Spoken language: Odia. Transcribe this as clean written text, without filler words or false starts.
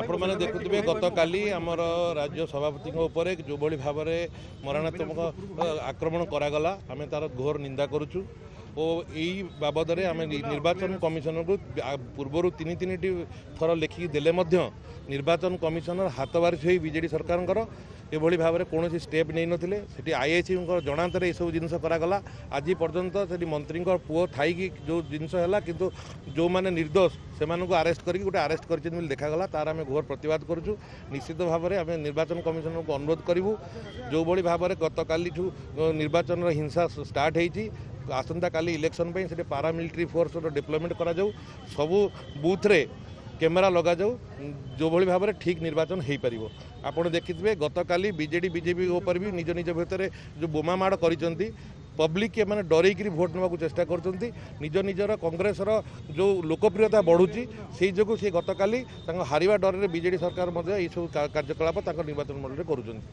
ଆପଣମାନେ ଦେଖୁଥିବେ, ଗତକାଲି ଆମର ରାଜ୍ୟ ସଭାପତିଙ୍କ ଉପରେ ଯେଉଁଭଳି ଭାବରେ ମରଣାତ୍ମକ ଆକ୍ରମଣ କରାଗଲା, ଆମେ ତାର ଘୋର ନିନ୍ଦା କରୁଛୁ ଓ ଏଇ ବାବଦରେ ଆମେ ନିର୍ବାଚନ କମିଶନରଙ୍କୁ ପୂର୍ବରୁ 3 3ଟି ଥର ଲେଖିକି ଦେଲେ ମଧ୍ୟ ନିର୍ବାଚନ କମିଶନର ହାତବାରିସି ହୋଇ ବିଜେଡ଼ି ସରକାରଙ୍କର ଏଭଳି ଭାବରେ କୌଣସି ଷ୍ଟେପ୍ ନେଇନଥିଲେ। ସେଠି ଆଇଆଇସିଙ୍କ ଜଣାନ୍ତରେ ଏସବୁ ଜିନିଷ କରାଗଲା। ଆଜି ପର୍ଯ୍ୟନ୍ତ ସେଠି ମନ୍ତ୍ରୀଙ୍କ ପୁଅ ଥାଇକି ଯେଉଁ ଜିନିଷ ହେଲା, କିନ୍ତୁ ଯେଉଁମାନେ ନିର୍ଦ୍ଦୋଷ ସେମାନଙ୍କୁ ଆରେଷ୍ଟ କରିକି ଗୋଟେ ଆରେଷ୍ଟ କରିଛନ୍ତି ବୋଲି ଦେଖାଗଲା, ତାର ଆମେ ଘୋର ପ୍ରତିବାଦ କରୁଛୁ। ନିଶ୍ଚିତ ଭାବରେ ଆମେ ନିର୍ବାଚନ କମିଶନରଙ୍କୁ ଅନୁରୋଧ କରିବୁ, ଯେଉଁଭଳି ଭାବରେ ଗତକାଲିଠୁ ନିର୍ବାଚନର ହିଂସା ଷ୍ଟାର୍ଟ ହେଇଛି, ଆସନ୍ତାକାଲି ଇଲେକ୍ସନ୍ ପାଇଁ ସେଠି ପାରାମିଲିଟାରୀ ଫୋର୍ସର ଡିପ୍ଲୟମେଣ୍ଟ କରାଯାଉ, ସବୁ ବୁଥରେ କ୍ୟାମେରା ଲଗାଯାଉ, ଯେଉଁଭଳି ଭାବରେ ଠିକ୍ ନିର୍ବାଚନ ହେଇପାରିବ। ଆପଣ ଦେଖିଥିବେ, ଗତକାଲି ବିଜେଡ଼ି ବିଜେପି ଉପରେ ବି ନିଜ ନିଜ ଭିତରେ ଯେଉଁ ବୋମା ମାଡ଼ କରିଛନ୍ତି, ପବ୍ଲିକ୍ ଏମାନେ ଡରେଇକିରି ଭୋଟ୍ ନେବାକୁ ଚେଷ୍ଟା କରୁଛନ୍ତି। ନିଜ ନିଜର କଂଗ୍ରେସର ଯେଉଁ ଲୋକପ୍ରିୟତା ବଢ଼ୁଛି, ସେଇ ଯୋଗୁଁ ସେ ଗତକାଲି ତାଙ୍କ ହାରିବା ଡରରେ ବିଜେଡ଼ି ସରକାର ମଧ୍ୟ ଏଇସବୁ କାର୍ଯ୍ୟକଳାପ ତାଙ୍କ ନିର୍ବାଚନ ମଣ୍ଡଳୀରେ କରୁଛନ୍ତି।